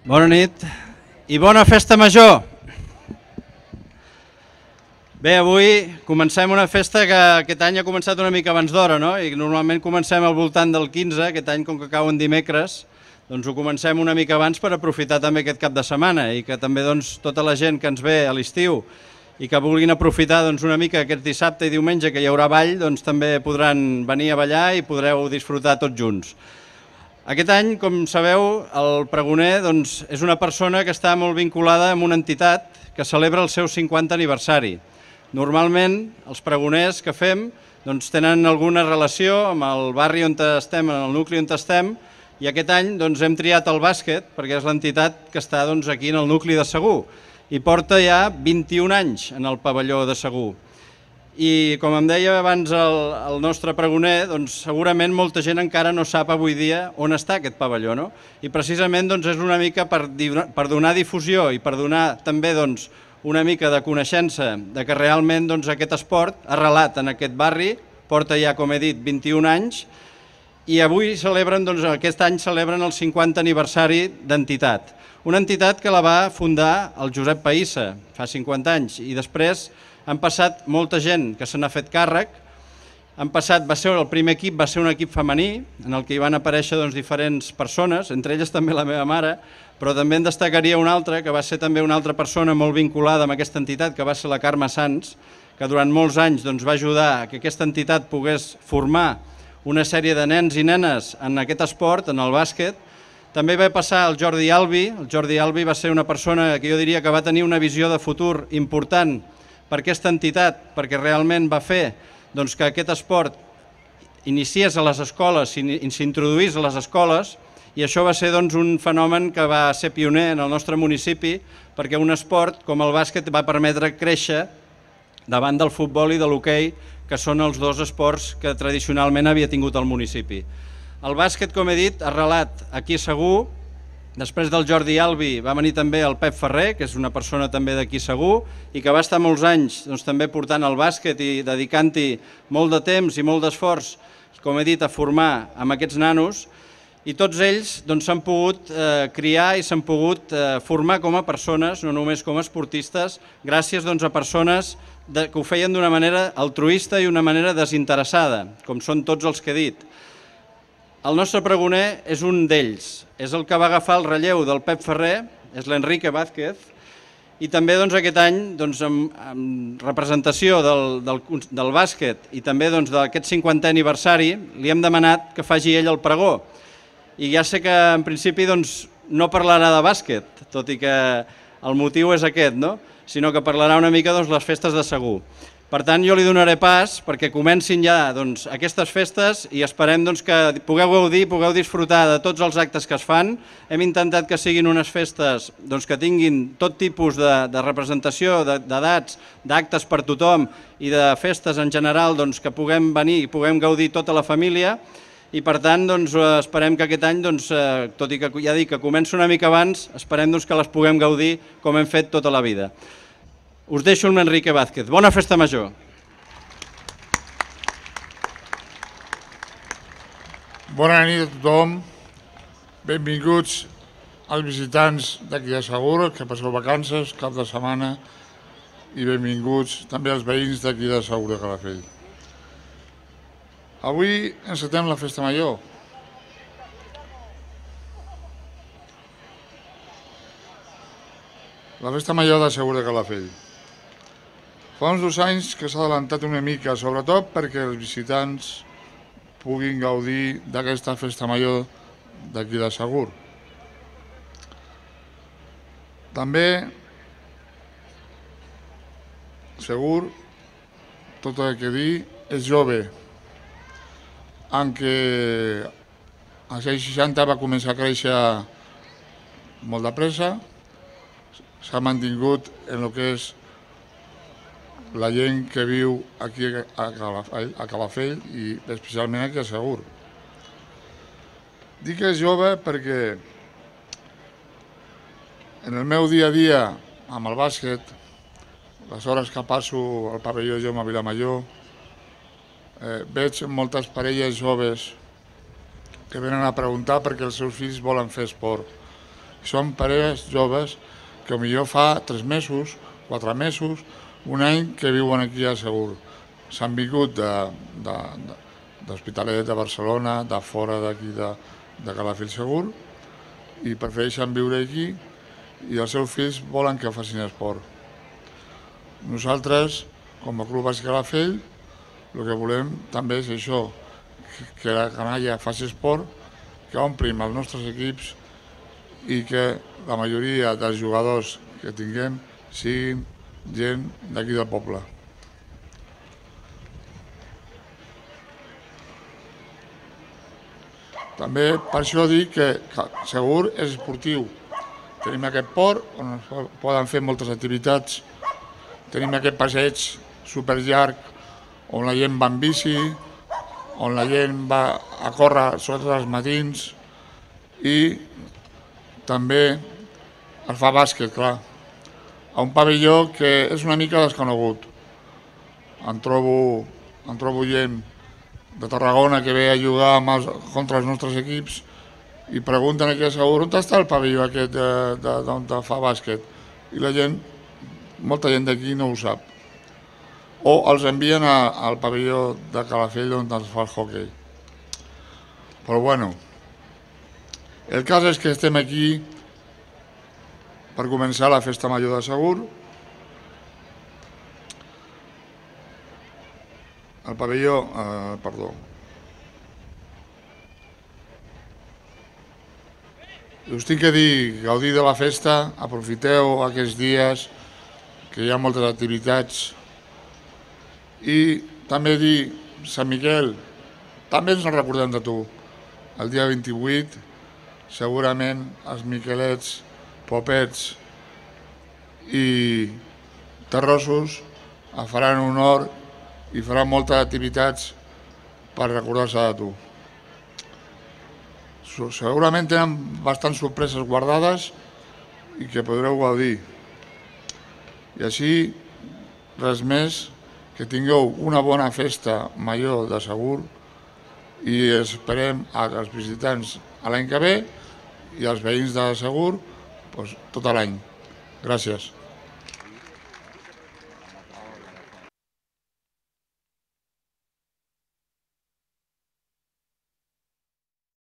Bona nit i bona festa major. Bé, avui comencem una festa que aquest any ha començat una mica abans d'hora, no? I normalment comencem al voltant del 15, aquest any com que cau en dimecres, doncs ho comencem una mica abans per aprofitar també aquest cap de setmana i que també doncs, tota la gent que ens ve a l'estiu i que vulguin aprofitar doncs, una mica aquest dissabte i diumenge que hi haurà ball, doncs també podran venir a ballar i podreu disfrutar tots junts. Aquest any, com sabeu, el pregoner doncs, és una persona que està molt vinculada amb una entitat que celebra el seu 50 aniversari. Normalment, els pregoners que fem doncs, tenen alguna relació amb el barri on estem, en el nucli on estem, i aquest any doncs, hem triat el bàsquet perquè és l'entitat que està doncs, aquí en el nucli de Segur i porta ja 21 anys en el pavelló de Segur. I com em deia abans el nostre pregoner, doncs segurament molta gent encara no sap avui dia on està aquest pavelló, no? I precisament doncs, és una mica per donar difusió i per donar també doncs, una mica de coneixença de que realment doncs, aquest esport arrelat en aquest barri, porta ja, com he dit, 21 anys, i avui celebren, doncs, aquest any celebren el 50 aniversari d'entitat. Una entitat que la va fundar el Josep Païssa fa 50 anys i després han passat molta gent que se n'ha fet càrrec. El primer equip va ser un equip femení en el que hi van aparèixer doncs, diferents persones, entre elles també la meva mare, però també en destacaria una altra, que va ser també una altra persona molt vinculada amb aquesta entitat, que va ser la Carme Sans, que durant molts anys doncs, va ajudar que aquesta entitat pogués formar una sèrie de nens i nenes en aquest esport, en el bàsquet. També va passar el Jordi Albi. El Jordi Albi va ser una persona que jo diria que va tenir una visió de futur important per aquesta entitat, perquè realment va fer doncs, que aquest esport iniciés a les escoles, s'introduís a les escoles, i això va ser doncs, un fenomen que va ser pioner en el nostre municipi, perquè un esport com el bàsquet va permetre créixer davant del futbol i de l'hoquei, que són els dos esports que tradicionalment havia tingut el municipi. El bàsquet, com he dit, arrelat aquí a Segur. Després del Jordi Albi va venir també el Pep Ferrer, que és una persona també d'aquí Segur, i que va estar molts anys doncs, també portant el bàsquet i dedicant-hi molt de temps i molt d'esforç, com he dit, a formar amb aquests nanos, i tots ells s'han pogut criar i s'han pogut formar com a persones, no només com a esportistes, gràcies a persones que ho feien d'una manera altruista i una manera desinteressada, com són tots els que he dit. El nostre pregoner és un d'ells, és el que va agafar el relleu del Pep Ferrer, és l'Enrique Vázquez, i també aquest any, en representació del bàsquet i també d'aquest 50è aniversari, li hem demanat que faci ell el pregó. I ja sé que en principi no parlarà de bàsquet, tot i que el motiu és aquest, sinó que parlarà una mica de les festes de Segur. Per tant, jo li donaré pas perquè comencin ja aquestes festes i esperem que pugueu gaudir, pugueu disfrutar de tots els actes que es fan. Hem intentat que siguin unes festes que tinguin tot tipus de representació, d'edats, d'actes per tothom i de festes en general que puguem venir i puguem gaudir tota la família. I per tant, esperem que aquest any, tot i que ja dic que comença una mica abans, esperem que les puguem gaudir com hem fet tota la vida. Us deixo amb l'Enrique Vázquez. Bona festa major. Bona nit a tothom. Benvinguts als visitants d'aquí de Segur, que passeu vacances, cap de setmana, i benvinguts també als veïns d'aquí de Segur de Calafell. Avui encetem la festa major. La festa major de Segur de Calafell. Fa uns 2 anys que s'ha adelantat una mica, sobretot perquè els visitants puguin gaudir d'aquesta festa major d'aquí de Segur. També, Segur, tot el que dir, és jove, en què als anys 60 va començar a créixer molt de pressa, s'ha mantingut en el que és la gent que viu aquí a Calafell i especialment aquí a Segur. Dic que és jove perquè en el meu dia a dia amb el bàsquet, les hores que passo al pavelló Jaume Vilamajor, veig moltes parelles joves que venen a preguntar perquè els seus fills volen fer esport. Són parelles joves que potser fa 3 mesos, 4 mesos, un any que viuen aquí a Segur. S'han vingut d'Hospitalet, de Barcelona, de fora d'aquí de Calafell Segur, i prefereixen viure aquí i els seus fills volen que facin esport. Nosaltres, com a Club Bàsquet Calafell, el que volem també és això, que la canalla faci esport, que omplim els nostres equips i que la majoria dels jugadors que tinguem siguin gent d'aquí del poble. També per això dic que Segur és esportiu. Tenim aquest port on es poden fer moltes activitats. Tenim aquest passeig superllarg on la gent va en bici, on la gent va a córrer sobretot els matins i també es fa bàsquet, clar. A un pavelló que és una mica desconegut. Em trobo gent de Tarragona que ve a jugar contra els nostres equips i pregunten aquí a Segur on està el pavelló aquest d'on fa bàsquet. I la gent, molta gent d'aquí no ho sap. O els envien al pavelló de Calafell on es fa el hoquei. Però bueno, el cas és que estem aquí per començar la festa major de Segur. El pavelló, perdó. Us tinc que dir, gaudir de la festa, aprofiteu aquests dies, que hi ha moltes activitats. I també dir, Sant Miquel, també ens en recordem de tu. El dia 28, segurament els miquelets, popets i terrossos faran honor i faran moltes activitats per recordar-se de tu. Segurament tenen bastants sorpreses guardades i que podreu gaudir. I així, res més, que tingueu una bona festa major de Segur i esperem als visitants l'any que ve i als veïns de Segur tot l'any. Gràcies.